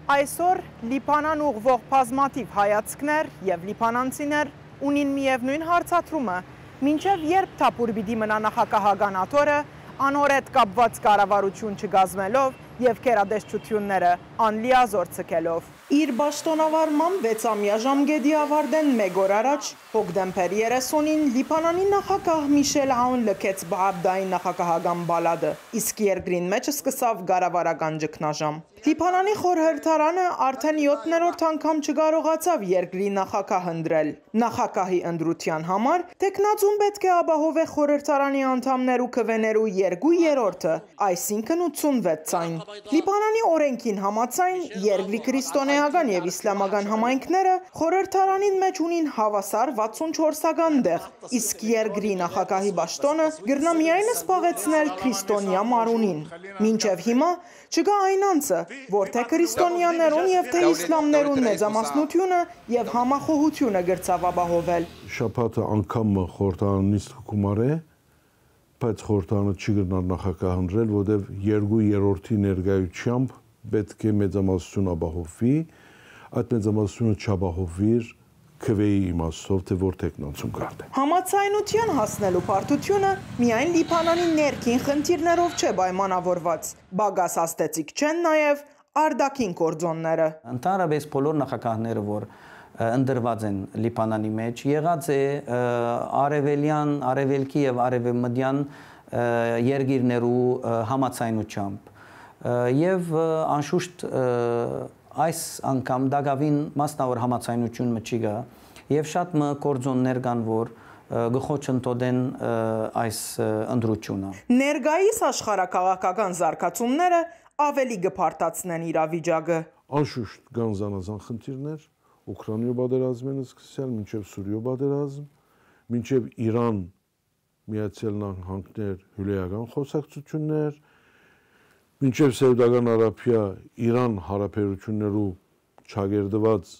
Այսօր Լիբանան ուղղվող բազմաթիվ հայացքներ եւ լիբանանցիներ ունին միևնույն հարցադրումը, մինչև երբ թափուր պիտի մնա նախագահական աթոռը, անօրետ կապված կառավարություն չգազմելով եւ քերադեսչությունները անլիազոր ցկելով։ Իր պաշտոնավարման 6-ամյա ժամկետի ավարտեն մեկ օր առաջ հոկտեմբեր 30-ին Լիբանանի նախագահ Միշել Աուն լքեց Բաաբդայի նախագահական բալադը, իսկ երկրին մեջ սկսավ կառավարական ճգնաժամ։ Լիբանանի խորհրդարանը արդեն 7-րդ անգամ չկարողացավ երկրի նախագահ ընտրել։ Նախագահի ընտրության համար տեխնացուն պետք է ապահովե խորհրդարանի անդամներու քվեներու 2/3-ը, այսինքն 86 ցայն։ Լիբանանի օրենքին համաձայն երկրի քրիստոնեական եւ իսլամական համայնքները խորհրդարանին մեջ ունին հավասար 64-ական տեղ, իսկ երկրի նախագահի պաշտոնը գրնա միայն զբաղեցնել քրիստոնյա մարունին։ Մինչև հիմա չկա այն անձը, որ թե քրիստոնյաներուն եւ թե իսլամներուն մեծամասնությունը եւ համախոհությունը գրծավ ապահովել։ Շաբաթը անգամը խորհրդարանից գումարե, բայց խորհրդարանը չի գնալ նախագահ ընտրել, որտեղ 2/3-ի ներկայությամբ պետք է մեծամասնություն ապահովվի, այդ մեծամասնությունը չապահովվիր քվեի իմաստով, թե որ տեխնացում կարտե։ Համաձայնության հասնելու բարդությունը միայն Լիբանանի ներքին խնդիրներով չէ պայմանավորված, բագաս աստեցիկ չեն նաև արտաքին գործոնները։ Ընդհանրապես բոլոր նախագահները, որ ընդրված են Լիբանանի մեջ, եղած է արևելյան, արևելքի եւ արևմտյան երկիրներու համաձայնությամբ եւ անշուշտ այս անգամ դակավին մասնավոր համաձայնություն չի գա եւ շատ գործոններ կան, որ գխոչընդոտեն այս ընտրությունը։ Ներկայիս աշխարհակաղակական զարգացումները ավելի կփարտացնեն իրավիճակը։ Անշուշտ կան զանազան խնդիրներ, Ուկրաինայով պատերազմն սկսել, մինչև Սուրիայով պատերազմ, մինչև Իրան, Միացյալ Նահանգներ, հյուրեական խոսակցություններ, մինչև Սաուդական Արաբիա, Իրան հարաբերություններու չագերդված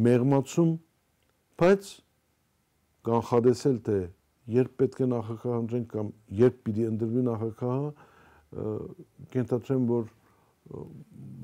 մեղմացում, բայց կանխատեսել թե երբ պետք է նախագահ ընտրենք կամ երբ պիտի ընտրվի նախագահը, կենթադրեմ, որ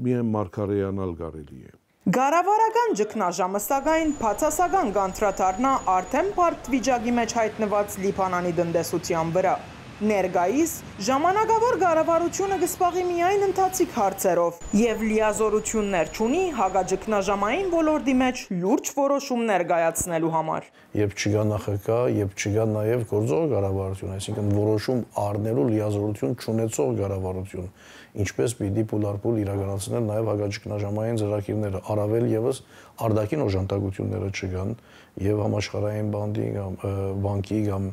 միայն մարգարեյանալ կարելի է։ Կառավարական ճգնաժամը սակայն բացասական կանդրադառնա արդեն բարդ վիճակի մեջ հայտնված Լիբանանի տնտեսության վրա։ Ներկայիս ժամանակավոր կառավարությունը կզբաղի միայն ընթացիկ հարցերով եւ լիազորություններ չունի հակաճգնաժամային ոլորտի մեջ լուրջ որոշումներ կայացնելու համար։ Երբ չկա նախագահ, երբ չկա նաեւ գործող կառավարություն, այսինքն որոշում առնելու լիազորություն չունեցող կառավարություն, ինչպես պիտի փուլարփուլ իրականացնել նաեւ հակաճգնաժամային ծրագիրները, առավել եւս արտաքին օժանդակությունները չկան եւ համաշխարհային բանկի կամ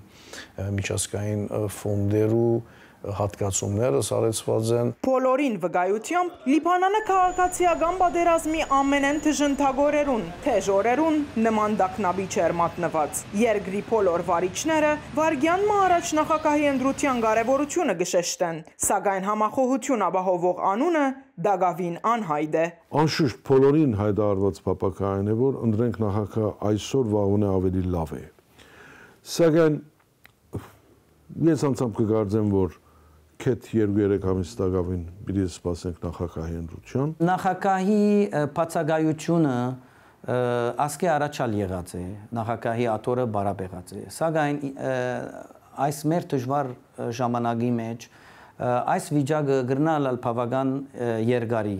միջազգային ֆոնդերու հատկացումները սարեցված են։ Բոլորին վկայությամբ Լիբանանը քաղաքացիական պատերազմի ամենեն դժնդագորերուն, թեժ օրերուն նման տագնապի չէր մատնված։ Երկրի բոլոր վարիչները վարգյանն առաջ նախագահի ընտրության կարևորությունը կշեշտեն, սակայն համախոհություն ապահովող անունը դակավին անհայտ է։ Անշուշտ բոլորին հայտարարված փափագային է, որ ընտրենք նախագահ այսօր վաղուց ավելի լավ է։ Սակայն ես անձամբ կգարձեմ, որ քեթ 2-3 ամիս տակավին պիտի սպասենք նախագահի ընտրության։ Նախագահի բացակայությունը ասկե առաջալ եղած է, նախագահի աթոռը բարաբեղած է, սակայն այս մեր դժվար ժամանակի մեջ այս վիճակը գրնալ բավական երկարի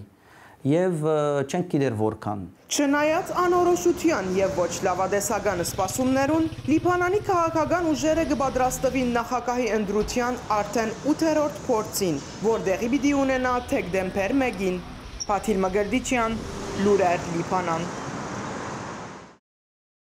եւ չենք գիտեր որքան։ Չնայած անորոշության եւ ոչ լավադեսական սպասումներուն, Լիբանանի քաղաքական ուժերը կպատրաստվին նախագահի ընտրության արդեն 8-րդ փորձին, որտեղի պիտի ունենա դեկտեմբեր 1-ին։ Փաթիլ Մգրդիչյան, Լուրեր, Լիբանան։